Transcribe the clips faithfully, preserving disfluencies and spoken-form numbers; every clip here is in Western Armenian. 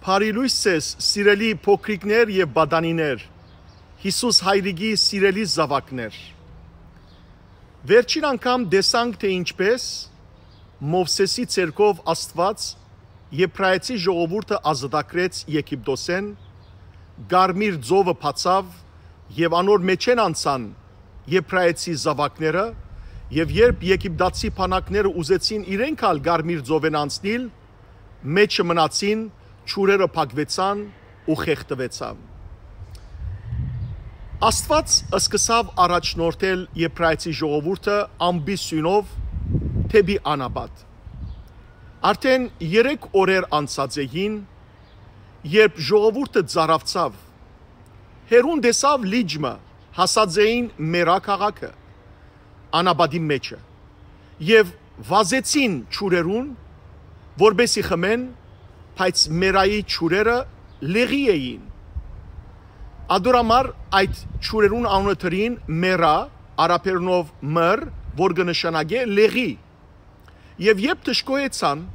Բարի լոյս ձեզ, սիրելի փոքրիկներ եւ պատանիներ, Յիսուս Հայրիկի սիրելի զաւակներ։ Վերջին անգամ տեսանք, թէ ինչպէս Մովսէսի ձեռքով Աստուած Եբրայեցի ժողովուրդը ազատագրեց Եգիպտոսէն, Կարմիր ծովը բացաւ եւ անոր մէջէն անցան Եբրայեցի զաւակները, եւ երբ եգիպտացի բանակները ուզեցին իրենք ալ Կարմիր ծովէն անցնիլ, մէջը մնացին, ջուրերը փակուեցան ու խեղդուեցան։ Աստուած սկսաւ առաջնորդել Եբրայեցի ժողովուրդը ամպի սիւնով դէպի անապատ։ Արդէն երեք օրեր անցած էին, երբ ժողովուրդը ծարաւցաւ, հեռուն տեսաւ լիճ մը, հասած էին Մերա քաղաքը, անապատի մէջը, եւ վազեցին ջուրերուն, որպէսզի խմեն, բայց Մերայի ջուրերը լեղի էին։ Ատոր համար այդ ջուրերուն անունը դրին Մերա, արաբերենով մըր, որ կը նշանակէ լեղի։ Եւ երբ դժգոհեցան,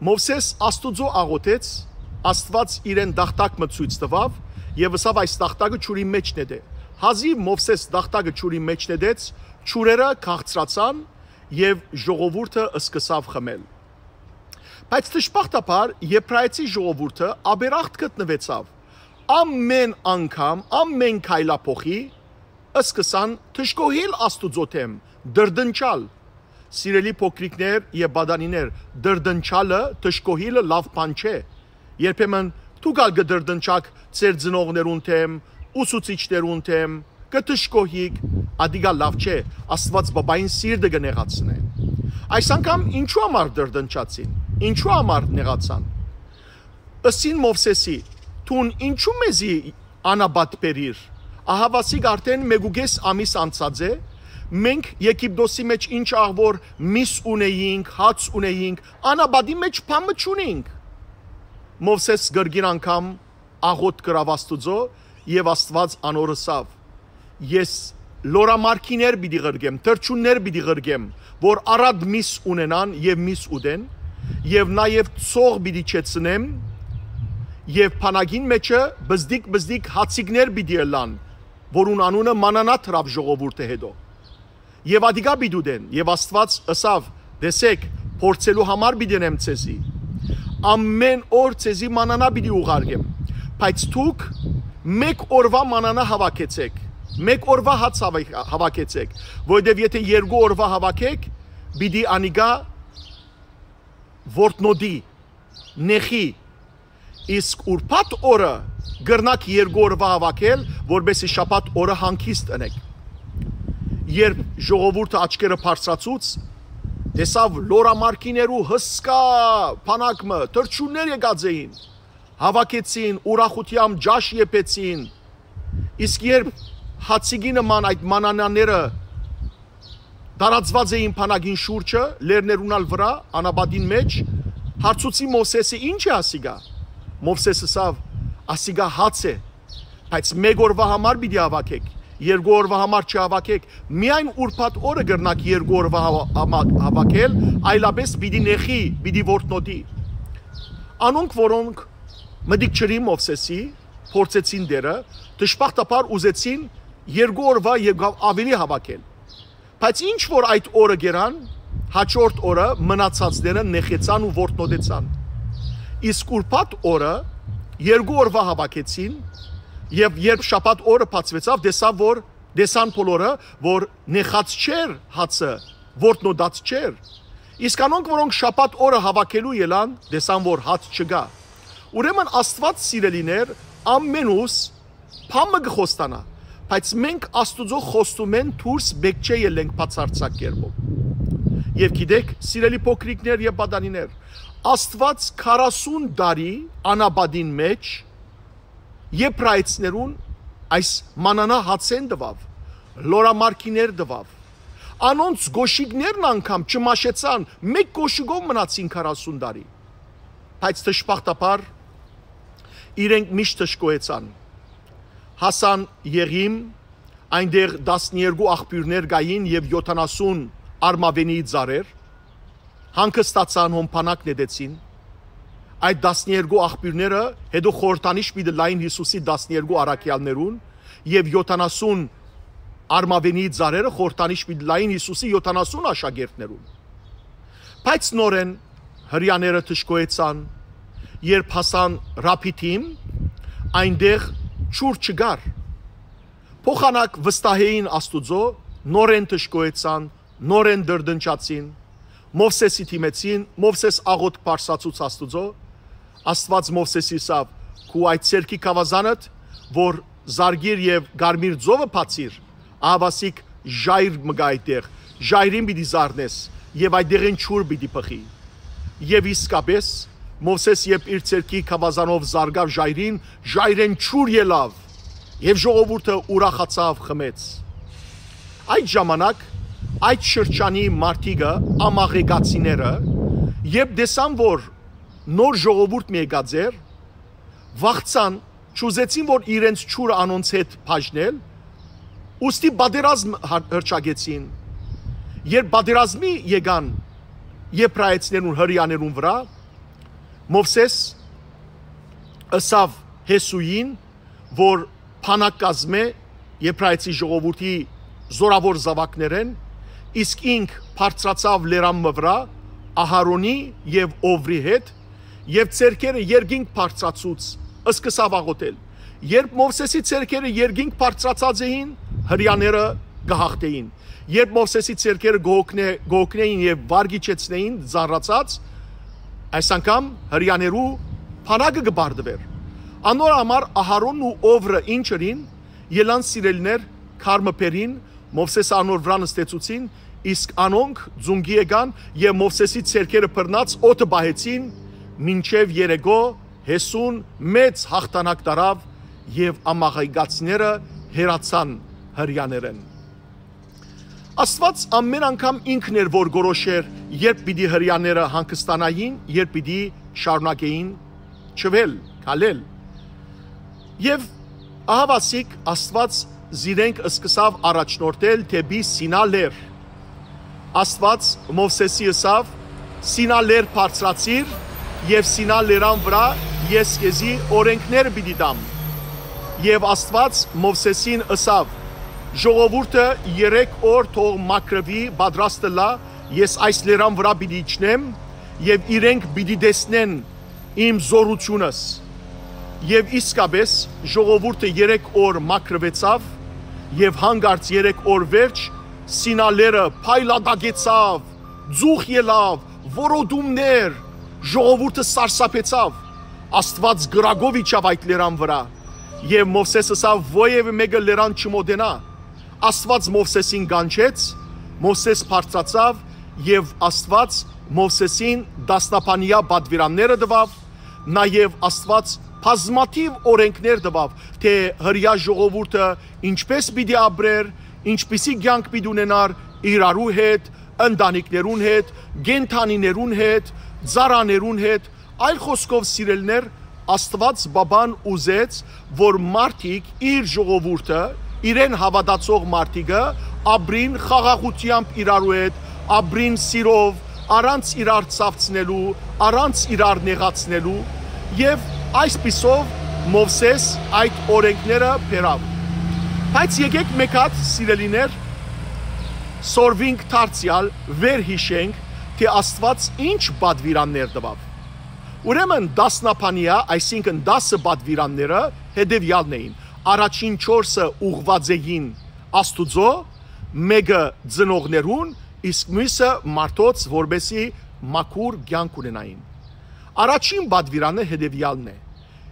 Մովսէս Աստուծոյ աղօթեց, Աստուած իրեն տախտակ մը ցոյց տուաւ եւ ըսաւ. «Այս տախտակը ջուրի մէջ նետէ»։ Հազիւ Մովսէս տախտակը ջուրի մէջ նետեց, ջուրերը քաղցրացան եւ ժողովուրդը սկսաւ խմել։ Բայց դժբախտաբար Եբրայեցի ժողովուրդը ապերախտ գտնուեցաւ։ Ամէն անգամ, ամէն քայլափոխի, սկսան դժգոհիլ Աստուծոյ դէմ, դրդնչալ։ Սիրելի փոքրիկներ եւ պատանիներ, դրդնչալը, դժգոհիլը լաւ բան չէ։ Երբեմն դուք ալ կը դրդնչաք ձեր ծնողներուն դէմ, ուսուցիչներուն դէմ, կը դժգոհիք, ատիկա լաւ չէ, Աստուած պապային սիրտը կը նեղացնէ։ Այս անգամ ինչու համար դրդնչացին, ինչու համար նեղացան։ Ըսին Մովսէսի. «Դուն ինչու մեզի անապատ բերիր։ Ահաւասիկ արդէն մէկուկէս ամիս անցած է, մենք Եգիպտոսի մէջ ինչ աղ որ միս ունեինք, հաց ունեինք, անապատի մէջ բան մը չունինք»։ Մովսէս կրկին անգամ աղօթք կրաւ Աստուծոյ եւ Աստուած անոր ըսաւ. «Ես լորամարքիներ պիտի ղրկեմ, թռչուններ պիտի ղրկեմ, որ առատ միս ունենան եւ միս ուտեն, եւ նաեւ ցող պիտի չեցնեմ, եւ բանակին մէջը բզդիկ-բզդիկ հացիկներ պիտի ըլլան, որուն անունը մանանա դրաւ ժողովուրդը հետո։ Եւ ատիկա պիտի ուտեն»։ Եւ Աստուած ըսաւ. «Տեսէք, փորձելու համար պիտի ընեմ ձեզի։ Ամէն օր ձեզի մանանա պիտի ուղարկեմ, բայց դուք մէկ օրուայ մանանա հաւաքեցէք, մէկ օրուայ հաց հաւա-, հաւաքեցէք, որովհետեւ եթէ երկու օրուայ հաւաքէք, պիտի անիկա որտնոտի, նեղի, իսկ ուրբաթ օրը կրնաք երկու օրուայ հաւաքել, որպէսզի շաբաթ օրը հանգիստ ընէք»։ Երբ ժողովուրդը աչքերը բարձրացուց, տեսաւ լորամարքիներու հսկայ բանակ մը, թռչուններ եկած էին, հաւաքեցին, ուրախութեամբ ճաշ եփեցին, իսկ երբ հացիկի նման այդ մանանաները տարածուած էին բանակին շուրջը, լեռներուն ալ վրայ, անապատին մէջ, հարցուցի Մովսէսը. «Ի՞նչ է ասիկա»։ Մովսէս ըսաւ. «Ասիկա հաց է, բայց մէկ օրուայ համար պիտի հաւաքէք, երկու օրուայ համար չհաւաքէք, միայն ուրբաթ օրը կրնաք երկու օրուայ հաვა-, հաმა-, հաւաքել, այլապէս պիտի նեղի, պիտի որտնոտի»։ Անոնք, որոնք մտիկ չըրին Մովսէսի, փորձեցին Տէրը, դժբախտաբար ուզեցին երկու օրուայ եւ աւելի հաւաքել։ Բայց ինչ որ այդ օրը կերան, հաջորդ օրը մնացածները նեղեցան ու որտնոտեցան։ Իսկ ուրբաթ օրը երկու օրուայ հաւաքեցին, եւ երբ շաբաթ օրը բացուեցաւ, տեսան, որ, տեսան բոլորը, որ նեղած չէր հացը, որտնոտած չէր։ Իսկ անոնք, որոնք շաբաթ օրը հաւաքելու ելան, տեսան, որ հաց չկայ։ Ուրեմն Աստուած, սիրելիներ, ամենուս բան մը կը խոստանայ, բայց մենք Աստուծոյ խոստումէն դուրս պէտք չէ ելենք բացարձակ կերպով։ Եւ գիտէք, սիրելի փոքրիկներ եւ պատանիներ, Աստուած քառասուն տարի անապատին մէջ եբրայեցիներուն այս մանանա հացէն տուաւ, լորամարքիներ տուաւ։ Անոնց կոշիկներն անգամ չմաշեցան, մէկ կոշիկով մնացին քառասուն տարի։ Բայց դժբախտաբար իրենք միշտ դժգոհեցան։ Հասան Եղիմ, այնտեղ տասներկու աղբիւրներ կային եւ յոթանասուն արմաւենի ծառեր, հանգստացան, հոն բանակ նետեցին։ Այդ տասներկու աղբիւրները հետո խորհրդանիշ պիտի լային Յիսուսի տասներկու առաքեալներուն, եւ յոթանասուն արմաւենի ծառերը խորհրդանիշ պիտի լային Յիսուսի յոթանասուն աշակերտներուն։ Բայց նորէն Հրեաները դժգոհեցան, երբ հասան Ռաբիդիմ, այնտեղ ջուր չկար։ Փոխանակ վստահ էին Աստուծոյ, նորէն դժգոհեցան, նորէն տրտնջացին, Մովսէսի դիմեցին, Մովսէս աղօթք բարձրացուց Աստուծոյ։ Աստուած Մովսէսի ըսաւ. «Քու այդ ձեռքի գաւազանդ, որ զարկիր եւ կարմիր ծովը բացիր, ահաւասիկ ժայռ մը կայ այդտեղ, ժայռին պիտի զարնես եւ այդտեղէն ջուր պիտի բխի»։ Եւ իսկապէս, Մովսէս երբ իր ձեռքի գաւազանով զարկաւ ժայռին, ժայռէն ջուր ելաւ եւ ժողովուրդը ուրախացաւ, խմեց։ Այդ ժամանակ այդ շրջանի մարդիկը, ամաղեկացիները, երբ տեսան, որ նոր ժողովուրդ մը եկած էր, վախցան, չուզեցին, որ իրենց ջուրը անոնց հետ բաժնել, ուստի պատերազմ հա-, հռչակեցին։ Երբ պատերազմի եկան եբրայեցիներուն, հրեաներուն վրայ, Մովսէս ըսաւ Յեսուին, որ բանակ կազմէ եբրայեցի ժողովուրդի զօրաւոր զաւակներէն, իսկ ինք բարձրացաւ լերան մը վրայ Ահարոնի եւ Ովրի հետ եւ ձեռքերը երկինք բարձրացուց, սկսաւ աղօթել։ Երբ Մովսէսի ձեռքերը երկինք բարձրացած էին, հրեաները կը հաղթէին։ Երբ Մովսէսի ձեռքերը կը հոգնէ-, կը հոգնէին եւ վար կ'իջեցնէին ծանրացած, այս անգամ հրեաներու բանակը կը պարտուէր։ Անոր համար Ահարոնն ու Ովրը ինչ ըրին, ելան, սիրելիներ, քար մը բերին, Մովսէսը անոր վրայ նստեցուցին, իսկ անոնք ծունկի եկան եւ Մովսէսի ձեռքերը բռնած օդը պահեցին, մինչեւ երեկոյ Յեսուն մեծ յաղթանակ տարաւ եւ ամաղեկացիները հեռացան հրեաներէն։ Աստուած ամէն անգամ ինքն էր, որ կորոշէր, երբ պիտի հրեաները հանգստանային, երբ պիտի շարունակէին չվել, քալել։ Եւ ահավասիկ Աստուած զիրենք սկսաւ առաջնորդել դէպի Սինա լեռ։ Աստուած Մովսէսի ըսաւ. «Սինա լեռ բարձրացիր եւ Սինա լերան վրայ ես քեզի օրենքներ պիտի տամ»։ Եւ Աստուած Մովսէսին ըսաւ. «Ժողովուրդը երեք օր թող մաքրուի, պատրաստ ըլլայ, ես այս լերան վրայ պիտի իջնեմ եւ իրենք պիտի տեսնեն իմ զօրութիւնս»։ Եւ իսկապէս ժողովուրդը երեք օր մաքրուեցաւ եւ հանկարծ երեք օր վերջ Սինա լեռը փայլատակեցաւ, ծուխ ելաւ, որոտումներ, ժողովուրդը սարսափեցաւ։ Աստուած կրակով իջաւ այդ լերան վրայ եւ Մովսէս ըսաւ. «Ոեւէ մէկը լերան չմօտենայ»։ Աստուած Մովսէսին կանչեց, Մովսէս բարձրացաւ եւ Աստուած Մովսէսին տասնաբանեայ պատուիրանները տուաւ, նաեւ Աստուած բազմաթիւ օրենքներ տուաւ, թէ հրեայ ժողովուրդը ինչպէս պիտի ապրէր, ինչպիսի կեանք պիտի ունենար իրարու հետ, ընտանիքներուն հետ, կենդանիներուն հետ, ծառաներուն հետ, այլ խօսքով, սիրելիներ, Աստուած Պապան ուզեց, որ մարդիկ, իր ժողովուրդը, իրեն հաւատացող մարդիկը ապրին խաղաղութեամբ իրարու հետ, ապրին սիրով, առանց իրար ցաւցնելու, առանց իրար նեղացնելու, եւ այսպիսով Մովսէս այդ օրենքները բերաւ։ Բայց եկէք մէկ հատ, սիրելիներ, սորվինք դարձեալ, վերհիշենք, թէ Աստուած ինչ պատուիրաններ տուաւ։ Ուրեմն տասնաբանեայ, այսինքն՝ տասը պատուիրանները հետեւեալն էին. առաջին չորսը ուղղուած էին Աստուծոյ, մէկը՝ ծնողներուն, իսկ միւսը՝ մարդոց, որպէսզի մաքուր կեանք ունենային։ Առաջին պատուիրանը հետեւեալն է.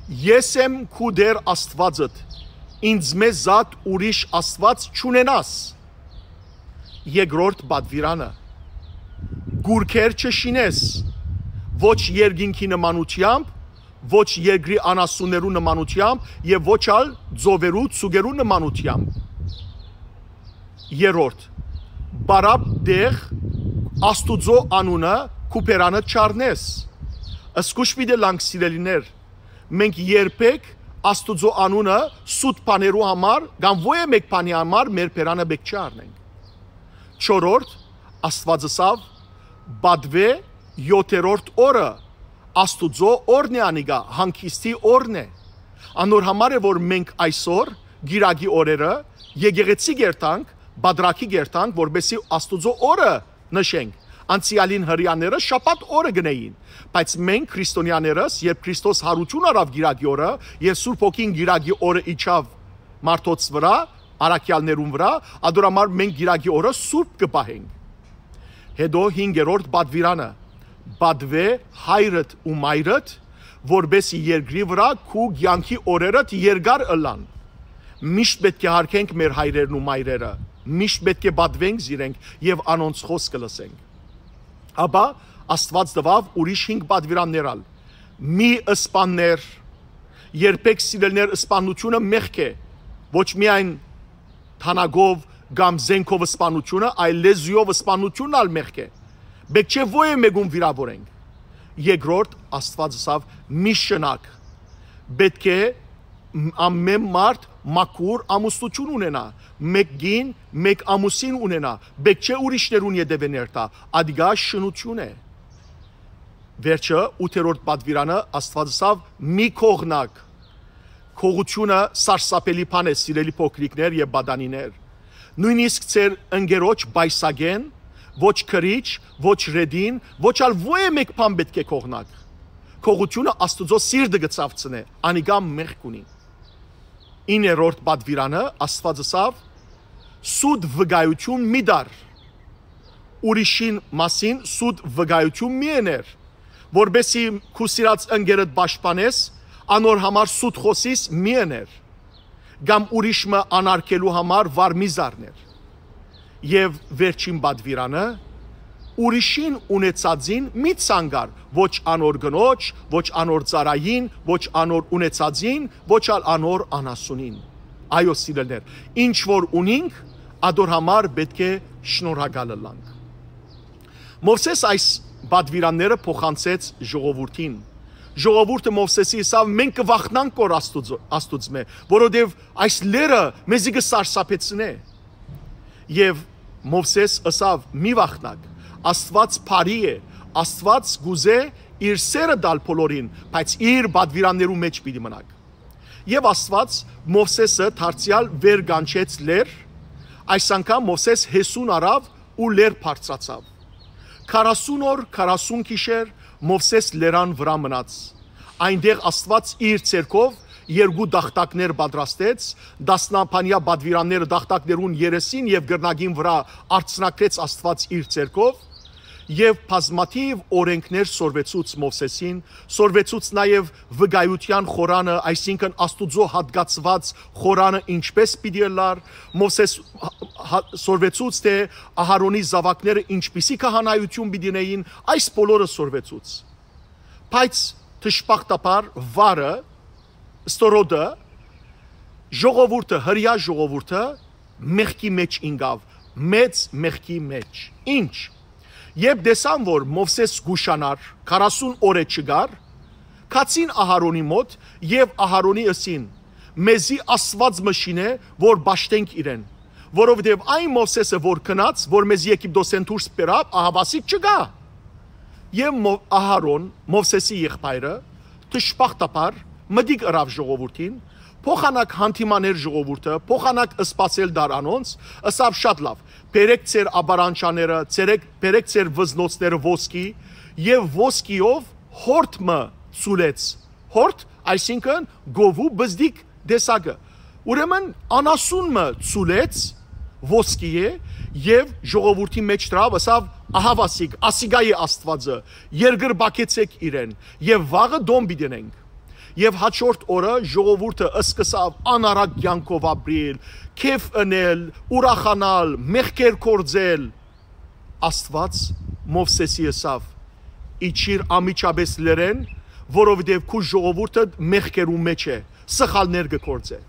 «Ես եմ քու Տէր Աստուածդ, ինձմէ զատ ուրիշ Աստուած չունենաս»։ Երկրորդ պատուիրանը. «Կուռքեր չշինես, ոչ երկինքի նմանութեամբ, ոչ երկրի անասուններու նմանութեամբ եւ ոչ ալ ծովերու, ծուկերու նմանութեամբ»։ Երրորդ. «Պարապ Տէր Աստուծոյ անունը քու բերանը չառնես»։ Զգոյշ պիտի ըլլանք, սիրելիներ, մենք երբեք Աստուծոյ անունը սուտ բաներու համար կամ ոեւէ մէկ բանի համար մեր բերանը պէտք չի առնենք։ Չորրորդ. Աստուած ըսաւ. «Պատուէ յոթերորդ օրը Աստուծոյ օրն է անիկա, հանգիստի օրն է։ Անոր համար է, որ մենք այսօր, կիրակի օրերը, եկեղեցի կերտանք, պատրակի կերտանք, որպեսզի Աստուծոյ օրը նշենք։ Անցեալին հրեաները շաբաթ օրը գնային, բայց մենք, քրիստոնեաներս, երբ Քրիստոս յարութիւն առաւ կիրակի օրը եւ Սուրբ Հոգին կիրակի օրը իջաւ մարդոց վրայ, առաքեալներուն վրայ, ադոր համար մենք կիրակի օրը սուրբ կը պահենք։ Հետո հինգերորդ պատուիրանը. «Պատուէ հայրդ ու մայրդ, որպեսզի երկրի վրայ քու կեանքի օրերդ երկար ըլլան»։ Միշտ պէտք է յարգենք մեր հայրերն ու մայրերը, միշտ պէտք է պատուենք զիրենք եւ անոնց խօսքը լսենք։ Ապա Աստուած տուաւ ուրիշ հինգ պատուիրաններ ալ. «Մի սպաններ, երբեք, սիրելիներ, սպաննութիւնը մեղք է, ոչ միայն թանագով կամ զենքով սպաննութիւնը, այլ լեզուով սպաննութիւնն ալ մեղք է։ Պէտք չէ ոեւէ մէկուն վիրաւորենք»։ Երկրորդ, Աստուած ըսաւ. «Մի շնակ, պէտք է մ-, ամէն մարդ մաքուր ամուսնութիւն ունենայ, մէկ կին, մէկ ամուսին ունենայ, պէտք չէ ուրիշներուն ետեւէ ներթայ, ադիկա շնութիւն է»։ Վերջը, ութերորդ պատուիրանը, Աստուած ըսաւ. «Մի կողնակ»։ Կողությունը սարսափելի բան է, սիրելի փոքրիկներ եւ պատանիներ։ Նոյնիսկ ձեր ընկերոջ պայսակէն, ոչ քրիչ, ոչ ռետին, ոչ ալ ոեւէ մէկ բան պէտք է կողնակ։ Կողությունը Աստուծոյ սիրտը կը ցաւցնէ, անիկա մեղք ունի։ Իններորդ պատուիրանը, Աստուած ըսաւ. «Սուտ վկայութիւն մի տար, ուրիշին մասին սուտ վկայութիւն մի ըներ, որպեսզի քու սիրած ընկերդ պաշտպանես, անոր համար սուտ խօսիս մի ըներ, կամ ուրիշ մը անարգելու համար վար մի զարներ»։ Եւ վերջին պատուիրանը. «Ուրիշին ունեցածին մի ցանկար, ոչ անոր կնոջ, ոչ անոր ծառային, ոչ անոր ունեցածին, ոչ ալ անոր անասունին»։ Այո, սիրելիներ, ինչ որ ունինք, ադոր համար պէտք է շնորհակալ ըլլանք։ Մովսէս այս պատուիրանները փոխանցեց ժողովուրդին։ Ժողովուրդը Մովսէսի ըսաւ. «Մենք կը վախնանք քոր Աստուծո-, Աստուծմէ, որովհետեւ այս լեռը մեզի կը սարսափեցնէ»։ Եւ Մովսէս ըսաւ. «Մի վախնաք, Աստուած բարի է, Աստուած կուզէ իր սերը տալ բոլորին, բայց իր պատուիրաններու մէջ պիտի մնաք»։ Եւ Աստուած Մովսէսը դարձեալ վեր կանչեց լեռ, այս անգամ Մովսէս հեսուն առաւ ու լեռ բարձրացաւ։ Քառասուն օր, քառասուն գիշեր Մովսէս լերան վրայ մնաց։ Այնտեղ Աստուած իր ձեռքով երկու տախտակներ պատրաստեց, տասնաբանեայ պատուիրանները տախտակներուն երեսին եւ կռնակին վրայ արձանագրեց Աստուած իր ձեռքով, եւ բազմաթիւ օրենքներ սորվեցուց Մովսէսին, սորվեցուց նաեւ վկայութեան խորանը, այսինքն Աստուծոյ յատկացուած խորանը ինչպէս պիտի ըլլար։ Մովսէս հա-, հա-, սորվեցուց, թէ Ահարոնի զաւակները ինչպիսի քահանայութիւն պիտի ունէին, այս բոլորը սորվեցուց։ Բայց դժբախտաբար վարը, ստորոտը, ժողովուրդը, հրեայ ժողովուրդը մեղքի մէջ ինկաւ, մեծ մեղքի մէջ։ Ինչ։ Երբ տեսան, որ Մովսէս կուշանար, քառասուն օրը չգար, գացին Ահարոնի մօտ եւ Ահարոնի ըսին. «Մեզի Աստուած մը շինէ, որ պաշտենք իրեն, որովհետեւ այն Մովսէսը, որ գնաց, որ մեզի Եգիպտոսէն դուրս բերաւ, ահաւասիկ չկայ»։ Եւ Մո-, Ահարոն, Մովսէսի եղբայրը, դժբախտաբար մտիկ ըրաւ ժողովուրդին, փոխանակ հանդիմաներ ժողովուրդը, փոխանակ սպասել դար անոնց, ըսաւ. «Շատ լաւ, բերեք ձեր ապարանչաները, ձերեք, բերեք ձեր վզնոցները ոսկի», եւ ոսկիով հորդ մը ցուլեց, հորդ, այսինքն՝ գովու բզդիկ տեսակը։ Ուրեմն անասուն մը ցուլեց ոսկիէ եւ ժողովուրդի մէջ դրաւ, ըսաւ. «Ահաւասիկ, ասիկա է Աստուածը, երկրպագեցէք իրեն, եւ վաղը տոն պիտի ընենք»։ Եւ հաջորդ օրը ժողովուրդը սկսաւ անառակ կեանքով ապրիլ, քեֆ ընել, ուրախանալ, մեղքեր գործել։ Աստուած Մովսէսի ըսաւ. «Իջիր անմիջապէս լեռէն, որովհետեւ քու ժողովուրդը մեղքերու մէջ է, սխալներ կը գործէ»։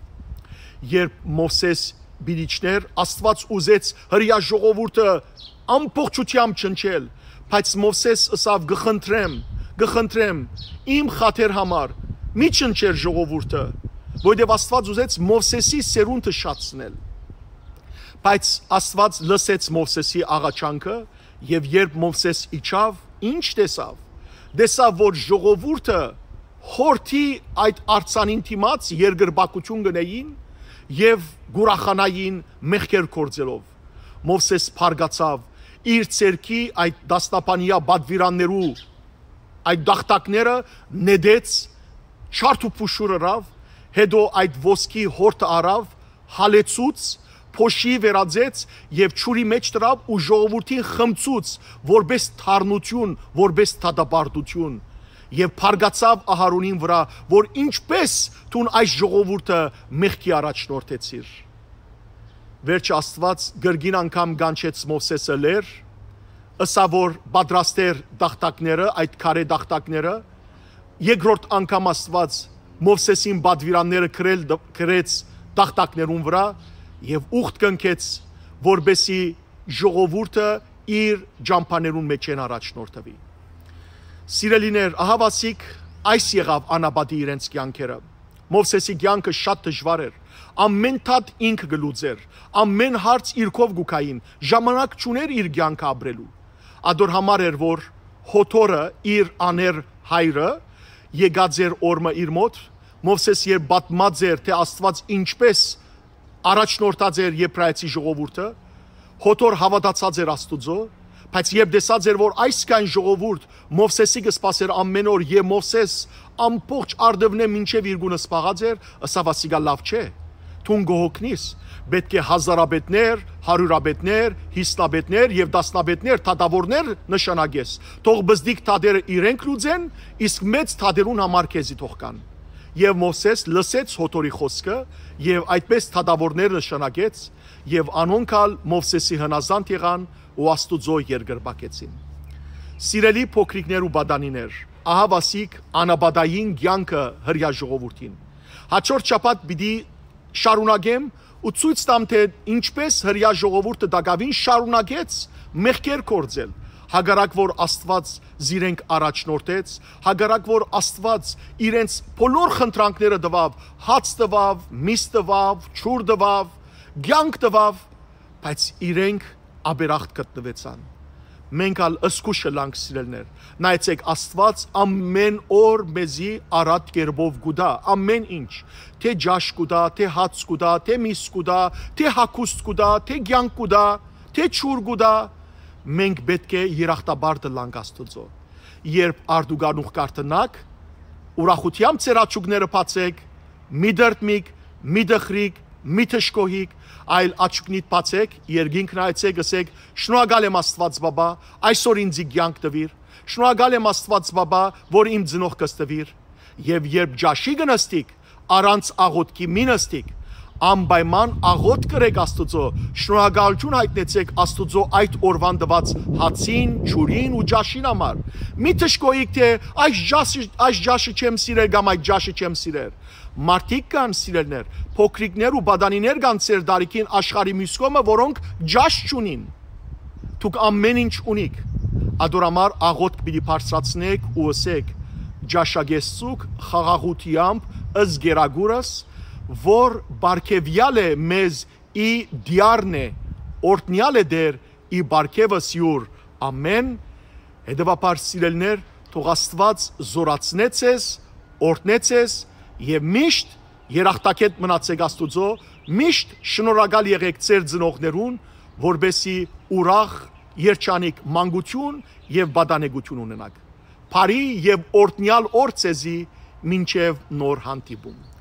Երբ Մովսէս պիտի իջնէր, Աստուած ուզեց հրեայ ժողովուրդը ամբողջությամբ ջնջել, բայց Մովսէս ըսաւ. «Կը խնդրեմ, կը խնդրեմ, իմ խաթեր համար, մի ջնջեր ժողովուրդը», որովհետեւ Աստուած ուզեց Մովսէսի սերունդը շատցնել։ Բայց Աստուած լսեց Մովսէսի աղաչանքը, եւ երբ Մովսէս իջաւ, ինչ տեսաւ։ Տեսաւ որ ժողովուրդը հորթի այդ արձանին դիմաց երկրպագութիւն կ'ընէին եւ կ'ուրախանային մեղքեր գործելով։ Մովսէս բարկացաւ, իր ձեռքի այդ դասնապանիա պատուիրաններու այդ տախտակները նետեց, չարդ ու փուշուր ըրաւ, հետո այդ ոսկի հորթը առաւ, հալեցուց, փոշի վերածեց եւ ջուրի մէջ դրաւ ու ժողովուրդին խմցուց որպէս թարնութիւն, որպէս դատապարտութիւն։ Եւ բարկացաւ Ահարոնին վրայ, որ ինչպէս դուն այս ժողովուրդը մեղքի առաջնորդեցիր։ Վերջը Աստուած կրկին անգամ կանչեց Մովսէսը լեռ, ըսաւ որ պատրաստէր տախտակները, այդ քարէ տախտակները, երկրորդ անգամ Աստուած Մովսէսին պատուիրանները գրել դ-, գրեց տախտակներուն վրայ եւ ուխտ կնքեց, որպէսի ժողովուրդը իր ճամբաներուն մէջէն առաջնորդուի։ Սիրելիներ, ահաւասիկ այս եղաւ անապատի իրենց կեանքերը։ Մովսէսի կեանքը շատ դժուար էր։ Ամեն դատ ինքը կը լուծէր, ամեն հարց իրքով կու գային, ժամանակ չունէր իր կեանքը ապրելու։ Ադոր համար էր որ Հոթորը, իր աներ հայրը, եկած էր օրմը իր մոտ, Մովսէս երբ պատմած էր, թե Աստուած ինչպէս առաջնորդած էր Եբրայեցի ժողովուրդը, Հոթոր հաւատացած էր Աստուծոյ, բայց երբ տեսած էր որ այսքան ժողովուրդ Մովսէսի կը սպասէր ամեն օր եւ Մովսէս ամբողջ արդեւնէ մինչեւ իր գունը սպաղած էր, ըսաւ ասիկա լաւ չէ, դուն կը հոգնիս, պէտք է հազարապետներ, հարիւրապետներ, հիսնապետներ եւ տասնապետներ, դատաւորներ նշանակես, թող բզդիկ դատերը իրենք լուծեն, իսկ մեծ դատերուն համար քեզի թող կան։ Եւ Մովսէս լսեց Հոթորի խօսքը եւ այդպէս դատաւորներ նշանակեց, եւ անոնք ալ Մովսէսի հնազանդ եղան ու Աստուծոյ երկրպագեցին։ Սիրելի փոքրիկներ ու պատանիներ, ահաւասիկ անապատային կեանքը Հրեայ ժողովուրդին։ Հաջորդ շաբաթ պիտի շարունակեմ ու ցոյց տամ, թե ինչպէս Հրեայ ժողովուրդը տակաւին շարունակեց մեղքեր գործել, հակառակ որ Աստուած զիրենք առաջնորդեց, հակառակ որ Աստուած իրենց բոլոր խնդրանքները տուաւ, հաց տուաւ, միս տուաւ, ջուր տուաւ, կեանք տուաւ, բայց իրենք աբերախտ գտնուեցան։ Մենք ալ զգուշ ըլանք, սիրելիներ։ Նայեցէք, Աստուած ամեն օր մեզի առատ կերպով կու տայ, ամեն ինչ, թէ ճաշ կու տայ, թէ հաց կու տայ, թէ միս կու տայ, թէ հագուստ կու տայ, թէ կեանք կու տայ, թէ ջուր կու տայ, մենք պէտք է երախտապարտ ըլանք Աստուծոյ։ Երբ արտուգանուխ կարդնաք, ուրախութեամբ ձեր աչուկները բացէք, մի դրդմիք, մի դխրիք, մի դժգոհիք, այլ աչուկնիդ բացէք, երկինք նայեցէք, ըսէք. «Շնորհակալ եմ, Աստուած Բաբա, այսօր ինձի կեանք տուիր։ Շնորհակալ եմ, Աստուած Բաբա, որ իմ ծնողքս տուիր»։ Եւ երբ ճաշի կը նստիք, առանց աղօթքի մի նստիք։ Անպայման աղօթք կրէք Աստուծոյ, շնորհակալութիւն յայտնեցէք Աստուծոյ այդ օրուան տուած հացին, ջուրին ու ճաշին համար։ Մի դժգոհիք, թէ այս ճաշը, այս ճաշը չեմ սիրեր կամ այդ ճաշը չեմ սիրեր։ Մարդիկ կան, սիրելիներ, փոքրիկներ ու պատանիներ կան ձեր տարիքին աշխարհի միւս կողմը, որոնք ճաշ չունին։ Դուք ամեն ինչ ունիք։ Ադոր համար աղօթք պիտի բարձրացնէք ու ըսէք. «Ճաշակեցուք խաղաղութեամբ, ըսկերագուրս, որ պարգեւեալ է մեզ ի դիարն է, օրհնեալ է Տեր ի պարգեւս յուր։ Ամեն»։ Հետեւաբար, սիրելիներ, թող Աստուած զորացնէ ձեզ, օրհնէ ձեզ եւ միշտ երախտագետ մնացէք Աստուծոյ, միշտ շնորհակալ եղէք ձեր ծնողներուն, որպեսզի ուրախ, երջանիկ մանկություն եւ պատանեկություն ունենաք։ Բարի եւ օրհնեալ օր ձեզի մինչեւ նոր հանդիպում։